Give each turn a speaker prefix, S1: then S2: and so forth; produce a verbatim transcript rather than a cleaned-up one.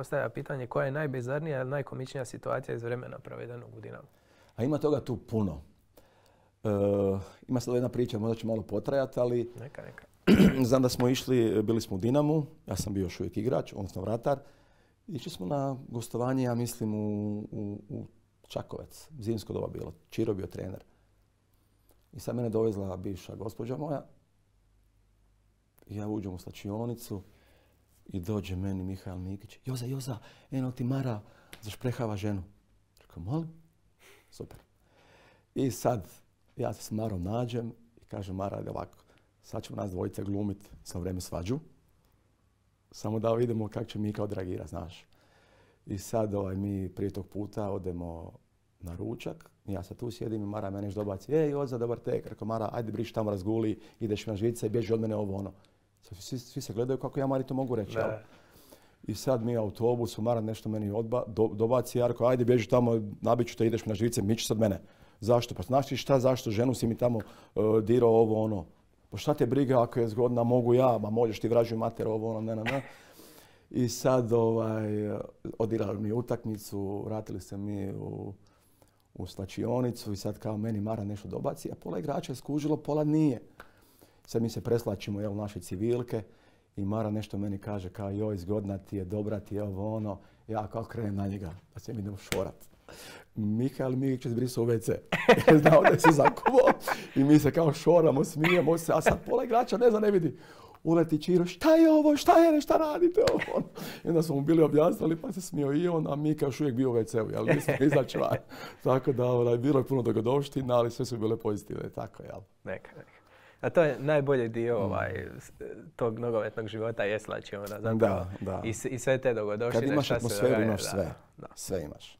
S1: postavlja pitanje koja je najbizarnija ili najkomičnija situacija iz vremena provedenog u Dinamu.
S2: A ima toga tu puno. E, ima sad jedna priča, možda će malo potrajati, ali...
S1: Neka, neka.
S2: Znam da smo išli, bili smo u Dinamu, ja sam bio još uvijek igrač, odnosno vratar. Išli smo na gostovanje, ja mislim, u, u, u Čakovec. Zimsko doba bilo. Čiro bio trener. I sad mene dovezla bivša gospođa moja. I ja uđem u slačionicu i dođe meni Mihael Mikić. Joza, Joza, eno ti Mara zašprehava ženu. Rekao, molim? Super. I sad ja se s Marom nađem i kažem, Mara, ajde ovako. Sad ćemo nas dvojice glumiti sa vrijeme svađu. Samo da vidimo kako će Mika odreagirati, znaš. I sad ovaj, mi prije tog puta odemo na ručak. Ja se tu sjedim i Mara mene još dobaci. Ej, Joza, dobar tek. Rekao, Mara, ajde briš tamo razguli, ideš na žvice i bježi od mene ovo ono. Svi, svi se gledaju kako ja Mari to mogu reći. I sad mi u autobusu, Mara nešto meni odba, do, dobaci. Ja rekao, ajde bježi tamo, nabit ću te, ideš na žvice, miči sad mene. Zašto? Pa znaš ti šta, zašto? Ženu si mi tamo uh, dirao ovo ono. Pa šta te briga ako je zgodna, mogu ja, ma možeš ti vražuj mater, ovo ono, ne, ne, ne. I sad ovaj, odigrali mi utakmicu, vratili se mi u, u slačionicu i sad kao meni Mara nešto dobaci, a pola igrača je skužilo, pola nije. Sad mi se preslačimo, jel, naše civilke i Mara nešto meni kaže kao joj, zgodna ti je, dobra ti je, ovo ono. Ja kao krenem na njega, da se mi idemo šorat. Mihael Mikić je zbrisao u ve ce. Znao da je se zakuvao i mi se kao šoramo, smijemo se, a sad pola igrača ne zna, ne vidi. Uleti Čiro, šta je ovo, šta je, šta radite ovo? I onda smo mu bili objasnili, pa se smio i on, a Mika još uvijek bio u ve ce-u, jel? Nismo izaći van. Tako da, ovaj, bilo je puno dogodovština, ali sve su bile pozitivne, tako, jel?
S1: Neka, neka. A to je najbolji dio ovaj, tog nogometnog života, je slačiona, zapravo.
S2: Da, da.
S1: I, I sve te dogodovštine.
S2: Kad imaš atmosferu, imaš sve.
S1: Da.
S2: Sve imaš.